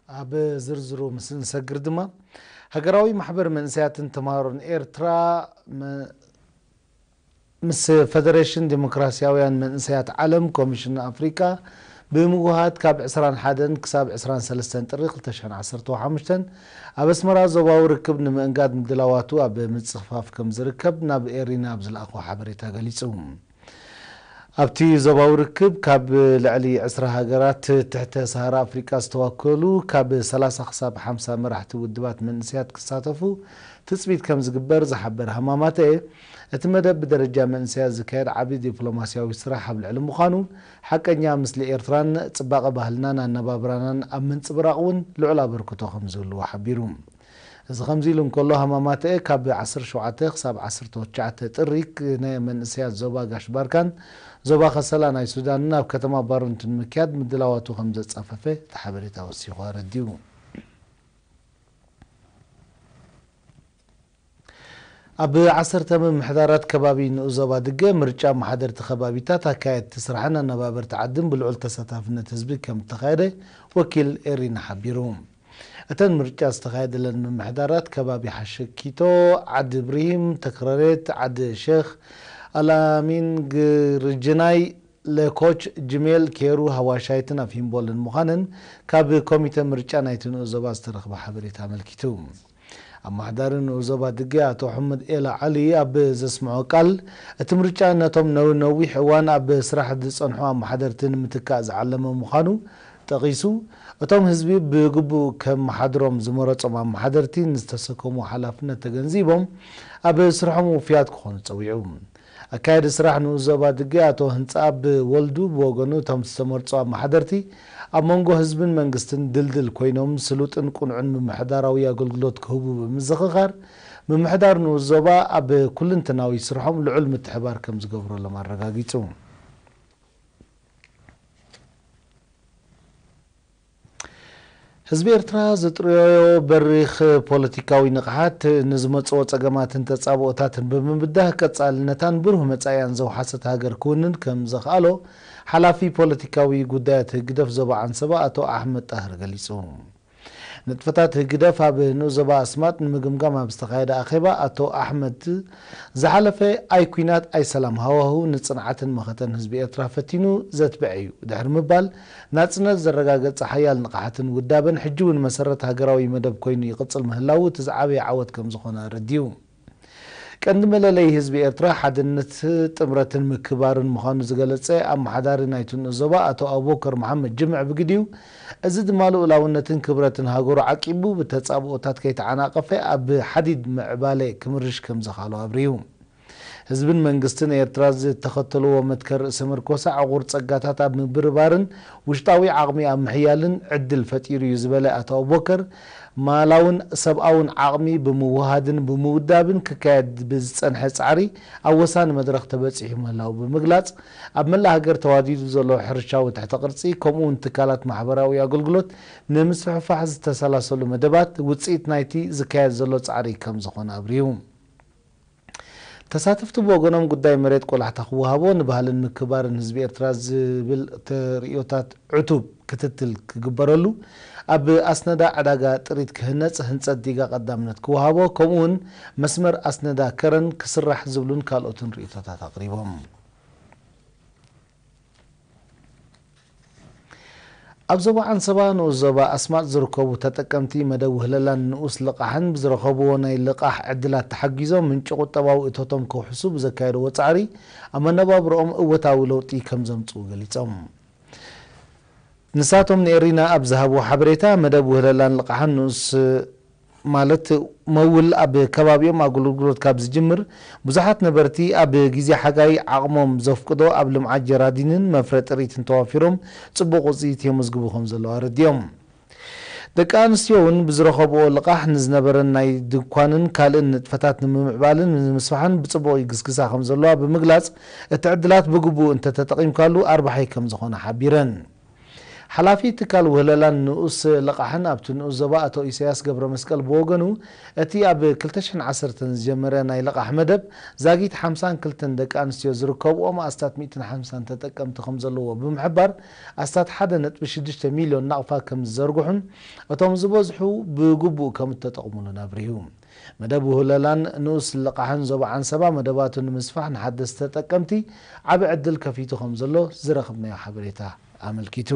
ኣብ ዝርዝሩ ምስ እንሰግር ድማ፣ ሃገራዊ ማሕበር መንእሰያትን ተምሃሮን ኤርትራ መ-፣ ምስ ፈደሬሽን ዲሞክራስያውያን መንእሰያት ዓለም፣ ኮሚሽን ኣፍሪቃ ብምውሃድ ካብ ዕስራን ሓደን ክሳብ ዕስራን ሰለስተን ጥሪ ክልተ ሽሕን ዓሰርተ ሓሙሽተን ኣብ ኣስመራ ዞባዊ ርክብ ንምእንጋድ ምድላዋቱ ኣብ ምጽፍፋፍ ከም ዝርከብ ናብ ኤሪና ኣብ ዝለኣኾ ሓበሬታ ገሊጹ። ኣብቲ ዞባዊ ርክብ ካብ ልዕሊ ዕስራ ሃገራት ትሕተ ሰሃራ ኣፍሪቃ ዝተዋከሉ ካብ ሰላሳ ክሳብ ሓምሳ መራሕቲ ውድባት መንእሰያት ክሳተፉ ትጽቢት ከም ዝግበር ዝሓበረ ሃማማተ፣ እቲ መደብ ብደረጃ መንእሰያት ዝካየድ ዓቢ ዲፕሎማስያዊ ስራሕ ኣብ ልዕሊ ምዃኑ፣ ሓቀኛ ምስሊ ኤርትራን ጽባቐ ባህልናን ኣነባብራናን ኣብ ምንጽብራቕ እውን ልዑል ኣበርክቶ ከም ዝህልዎ ሓቢሩ። እዚ ከምዚ ኢሉ እንከሎ፣ ሃማማተኤ ካብ ዓሰርተ ሸውዓተ ክሳብ ዓሰርተ ትሽዓተ ጥሪ ክ-፣ ናይ መንእሰያት ዞባ ጋሽ ባርካን ዞባ ከሰላ ናይ ሱዳንን ኣብ ከተማ ባሩንት ንምክያድ ምድላዋቱ ከም ዘጻፈፈ እቲ ሓበሬታ ወሲኹ ኣረዲኡ። ኣብ ዓሰርተ ምምሕዳራት ከባቢ ንኡስ ዞባ ድገ ምርጫ ኣመሓደርቲ ከባቢታት፣ ኣካየድቲ ስራሕን ኣነባበርቲ ዓድን ብልዑል ተሳታፍነት ህዝቢ ከም እተኻየደ ወኪል ኤሪና ሓቢሩ። እተን ምርጫ ዝተኻየደለን ምምሕዳራት ከባቢ ሓሸኪቶ፣ ዓዲ ብሪሂም፣ ተክረሬት፣ ዓዲ ሼኽ ኣላሚን፣ ግርጅናይ፣ ለኮች፣ ጅሜል፣ ኬሩ፣ ሃዋሻይትን ኣፍ ሂምቦልን ምዃነን ካብ ኮሚተ ምርጫ ናይቲ ንኡስ ዞባ ዝተረኽበ ሓበሬታ ኣመልኪቱ። ኣመሓዳሪ ንኡስ ዞባ ድገ ኣቶ ሑመድ ኤላ ዓሊ ኣብ ዘስምዖ ቃል፣ እቲ ምርጫ ነቶም ነዊ-፣ ነዊሕ እዋን ኣብ ስራሕ ዝጸንሑ ኣመሓደርቲ ንምትካእ ዝዓለመ ምዃኑ ጠቒሱ፣ እቶም ህዝቢ ብግቡእ ከመሓድሮም ዝመረጾም ኣመሓደርቲ ንዝተሰከሞ ሓላፍነት ተገንዚቦም ኣብ ስርሖም ውፉያት ክኾኑ ጸዊዑ። ኣካያዲ ስራሕ ንኡስ ዞባ ድገ ኣቶ ህንጻኣብ ወልዱ ብወገኑ፣ እቶም ዝተመርጹ ኣመሓደርቲ ኣብ መንጎ ህዝብን መንግስትን ድልድል ኮይኖም ስሉጥን ቅኑዕን ምምሕዳራዊ ኣገልግሎት ክህቡ ብምዝኽኻር፣ ምምሕዳር ንኡስ ዞባ ኣብ ኩልንተናዊ ስርሖም ልዑል ምትሕባር ከም ዝገብረሎም ኣረጋጊጹ። ህዝቢ ኤርትራ ዝጥረዮ በሪኽ ፖለቲካዊ ንቕሓት ንዝመጽኦ ጸገማትን ተጻብኦታትን ብምብዳህ ቀጻልነታን ብሩህ መጻኢያን ዘውሓሰት ሃገር ክውንን ከም ዘኽኣሎ ሓላፊ ፖለቲካዊ ጉዳያት ህግደፍ ዞባ ዓንሰባ ኣቶ ኣሕመድ ጣህር ገሊጹ። ንጥፈታት ህግደፍ ኣብ ንኡስ ዞባ ኣስማጥ ንምግምጋም ኣብ ዝተኻየደ ኣኼባ ኣቶ ኣሕመድ ዝሓለፈ ኣይ ኲናት ኣይ ሰላም ሃዋህው ንጽንዓትን መኸተን ህዝቢ ኤርትራ ፈቲኑ ዘትብዐ እዩ ድሕሪ ምባል፣ ናጽነት ዘረጋገጸ ሓያል ንቕሓትን ውዳበን ሕጂ እውን መሰረት ሃገራዊ መደብ ኮይኑ ይቕጽል ምህላዉ እቲ ዝዓበየ ዓወት ከም ዝኾነ ኣረዲኡ። ቀንዲ መለለዪ ህዝቢ ኤርትራ ሓድነት፣ ጥምረትን ምክብባርን ምዃኑ ዝገለጸ ኣመሓዳሪ ናይቲ ንኡስ ዞባ ኣቶ ኣቡበከር መሓመድ ጅምዕ ብግዲኡ፣ እዚ ድማ ልኡላውነትን ክብረትን ሃገሩ ዓቂቡ ብተጻብኦታት ከይተዓናቐፈ ኣብ ሓዲድ ምዕባለ ክምርሽ ከም ዘኽኣሎ ኣብሪሁ። ህዝብን መንግስትን ኤርትራ ዝተኸተልዎ መትከል ርእሰ ምርኮሳ ዕቑር ጸጋታት ኣብ ምብርባርን ውሽጣዊ ዓቕሚ ኣብ ምሕያልን ዕድል ፈጢሩ እዩ ዝበለ ኣቶ ኣቡበከር፣ ማላውን ሰብኣውን ዓቕሚ ብምውሃድን ብምውዳብን ክካየድ ብዝጸንሐ ጻዕሪ ኣብ ወሳኒ መድረኽ ተበጺሑ ምህላዉ ብምግላጽ፣ ኣብ መላእ ሃገር ተዋዲዱ ዘሎ ሕርሻዊ ትሕተ ቅርጺ ከምኡ እውን ትካላት ማሕበራዊ ኣገልግሎት ንምስፍሕፋሕ ዝተሰላሰሉ መደባት ውጽኢት ናይቲ ዝካየድ ዘሎ ጻዕሪ ከም ዝኾነ ኣብሪሁ። ተሳተፍቲ ብወገኖም ጉዳይ መሬት ቆላሕታ ክወሃቦ፣ ንባህልን ምክብባርን ህዝቢ ኤርትራ ዝብል ተርእዮታት ዕቱብ ክትትል ክግበረሉ፣ ኣብ ኣስነዳ ዕዳጋ ጥሪት ክህነጽ ህንጸት ዲጋ ቀዳምነት ክወሃቦ፣ ከምኡውን መስመር ኣስነዳ ከረን ክስራሕ ዝብሉን ካልኦትን ርእይቶታት ኣቕሪቦም። ኣብ ዞባ ዓንሰባ ንኡስ ዞባ ኣስማጥ ዝርከቡ ተጠቀምቲ መደብ ውህለላን ንኡስ ልቓሕን ብዝረኸብዎ ናይ ልቓሕ ዕድላት ተሓጊዞም ምንጪ ቁጠባዊ እቶቶም ከውሕሱ ብዘካየድዎ ጻዕሪ ኣብ መነባብሮኦም እወታዊ ለውጢ ከም ዘምጽኡ ገሊጾም። ንሳቶም ንኤሪና ኣብ ዝሃብዎ ሓበሬታ፣ መደብ ውህለላን ልቓሕን ንኡስ ማለት መውል ኣብ ከባቢኦም ኣገልግሎት ካብ ዝጅምር፣ ብዙሓት ነበርቲ ኣብ ግዜ ሓጋይ ዓቕሞም ዘፍቅዶ ኣብ ልምዓት ጀራዲንን መፍረ ጥሪትን ተዋፊሮም ጽቡቕ ውጽኢት የመዝግቡ ከም ዘለዉ ኣረዲኦም። ደቂ ኣንስትዮ እውን ብዝረኸብኦ ልቓሕ ንዝነበረን ናይ ድኳንን ካልእን ንጥፈታት ንምምዕባልን ንምስፋሕን ብጽቡቕ ይግስግሳ ከም ዘለዋ ብምግላጽ፣ እቲ ዕድላት ብግቡእ እንተተጠቒምካሉ ኣርባሒ ከም ዝኾነ ሓቢረን። ሓላፊ ትካል ውህለላን ንኡስ ልቓሕን ኣብቲ ንኡስ ዞባ ኣቶ ኢሳያስ ገብረ መስቀል ብወገኑ፣ እቲ ኣብ ክልተ ሽሕን ዓሰርተን ዝጀመረ ናይ ልቓሕ መደብ ዛጊት ሓምሳን ክልተን ደቂ ኣንስትዮ ዝርከብኦም ኣስታት ሚእትን ሓምሳን ተጠቀምቲ ከም ዘለዎ ብምሕባር፣ ኣስታት ሓደ ነጥቢ ሽዱሽተ ሚልዮን ናቕፋ ከም ዝዘርግሑን እቶም ዝበዝሑ ብግቡእ ከም እተጠቕሙሉን ኣብሪሁ። መደብ ውህለላን ንኡስ ልቓሕን ዞባ ዓንሰባ መደባቱ ንምስፋሕ ንሓደስቲ ተጠቀምቲ ዓቢ ዕድል ከፊቱ ከም ዘሎ ዝረኸብናዮ ሓበሬታ ኣመልኪቱ።